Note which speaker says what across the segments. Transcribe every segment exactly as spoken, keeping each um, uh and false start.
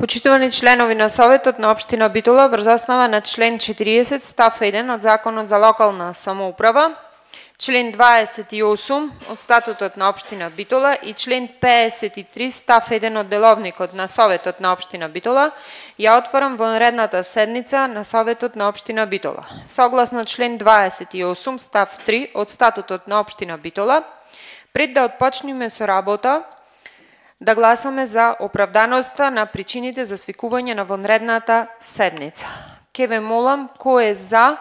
Speaker 1: Почитувани членови на Советот на општина Битола, врз основа на член четириесет став еден од Законот за локална самоуправа, член дваесет и осум од Статутот на општина Битола и член пеесет и три став еден од Деловникот на Советот на општина Битола, ја отворам вонредната седница на Советот на општина Битола. Согласно член дваесет и осум став три од Статутот на општина Битола, пред да отпочнеме со работа, да гласаме за оправданоста на причините за свикување на вонредната седница. Ке ве молам кој е за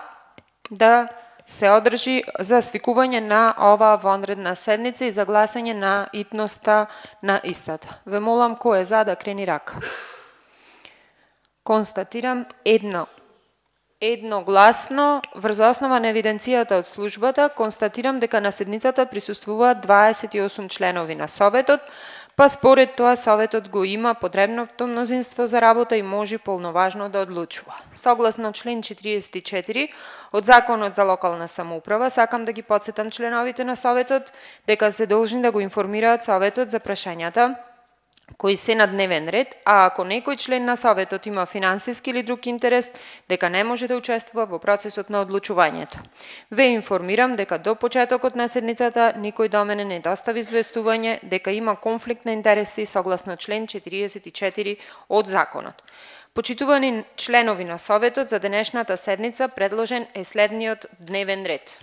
Speaker 1: да се одржи за свикување на оваа вонредна седница и за гласање на итноста на истата. Ве молам кој е за да крени рака. Констатирам едно. Едногласно, врз основа на евиденцијата од службата, констатирам дека на седницата присуствуваат дваесет и осум членови на Советот, па според тоа Советот го има потребното мнозинство за работа и може полноважно да одлучува. Согласно член четириесет и четири од Законот за локална самоуправа, сакам да ги потсетам членовите на Советот дека се должни да го информираат Советот за прашањата кои се на дневен ред, а ако некој член на Советот има финансиски или друг интерес, дека не може да учествува во процесот на одлучувањето. Ве информирам дека до почетокот на седницата никој до мене не достави известување дека има конфликт на интереси согласно член четириесет и четири од Законот. Почитувани членови на Советот, за денешната седница предложен е следниот дневен ред.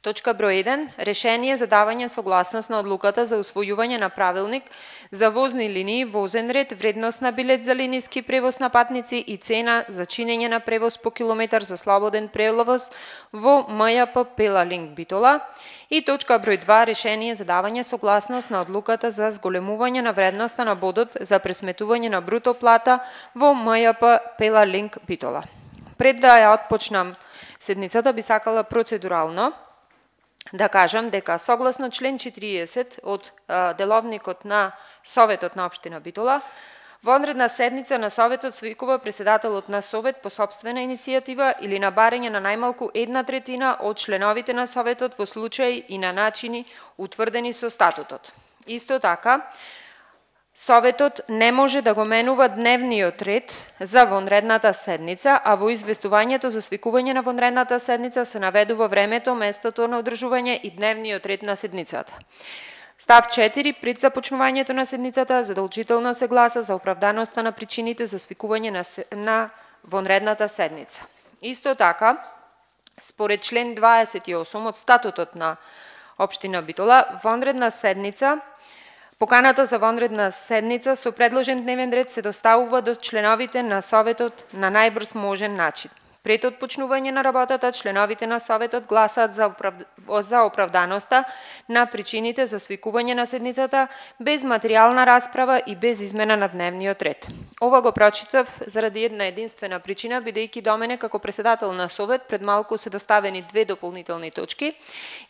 Speaker 1: Точка број еден. Решение за давање согласност на одлуката за усвојување на правилник за возни линии, возен ред, вредност на билет за линиски превоз на патници и цена за чинење на превоз по километар за слободен превоз во М Ј П Пела Линк Битола. И точка број два. Решение за давање согласност на одлуката за зголемување на вредноста на бодот за пресметување на бруто плата во М Ј П Пела Линк Битола. Пред да ја отпочнам седницата, би сакала процедурално да кажам дека согласно член четириесет од Деловникот на Советот на општина Битола, вонредна седница на Советот свикува председателот на Совет по сопствена иницијатива или на барање на најмалку една третина од членовите на Советот во случаи и на начини утврдени со статутот. Исто така, Советот не може да го менува дневниот ред за вонредната седница, а во известувањето за свикување на вонредната седница се наведува времето, местото на одржување и дневниот ред на седницата. Став четири. Пред започнувањето на седницата, задолжително се гласа за оправданоста на причините за свикување на, на вонредната седница. Исто така, според член дваесет и осум од Статутот на општина Битола, вонредна седница Поканата за вонредна седница со предложен дневен ред се доставува до членовите на Советот на најбрз можен начин. Пред отпочнување на работата, членовите на Советот гласаат за, оправ... за оправданоста на причините за свикување на седницата без материјална расправа и без измена на дневниот ред. Ова го прочитав заради една единствена причина, бидејќи до мене како председател на Совет пред малку се доставени две дополнителни точки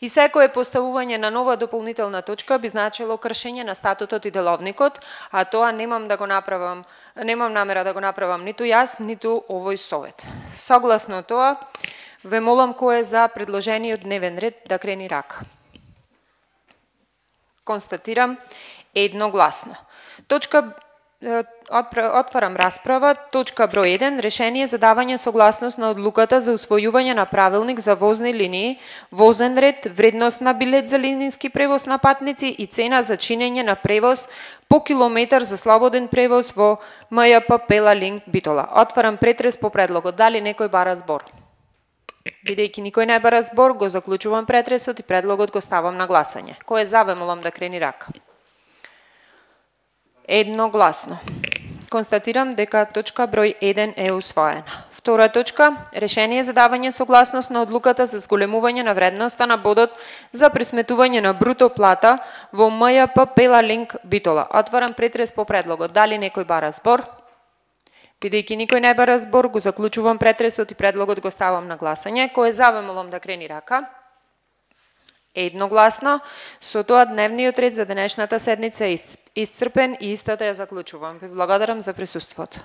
Speaker 1: и секое поставување на нова дополнителна точка би значило кршење на статутот и деловникот, а тоа немам да го направам, немам намера да го направам ниту јас, ниту овој Совет. Согласно тоа, ве молам кој е за предложениот дневен ред да крени рака. Констатирам едногласно. Точка Отварам расправа. Точка број еден. Решение за давање согласност на одлуката за усвојување на правилник за возни линии, возен ред, вредност на билет за линиски превоз на патници и цена за чинење на превоз по километар за слободен превоз во М Ј П Пела Линк Битола. Отварам претрес по предлогот. Дали некој бара збор? Бидејќи никој не бара збор, го заклучувам претресот и предлогот го ставам на гласање. Кој е за, ве молам да крени рака. Едногласно. Констатирам дека точка број еден е усвоена. Втора точка. Решение за давање согласност на одлуката за зголемување на вредноста на бодот за пресметување на бруто плата во М Ј П Пела Линк Битола. Отварам претрес по предлогот. Дали некој бара збор? Бидејќи никој не бара збор, го заклучувам претресот и предлогот го ставам на гласање. Кој е за, ве молам да крени рака. Едногласно. Со тоа дневниот ред за денешната седница е исцрпен и истата ја заклучувам. Ви благодарам за присуството.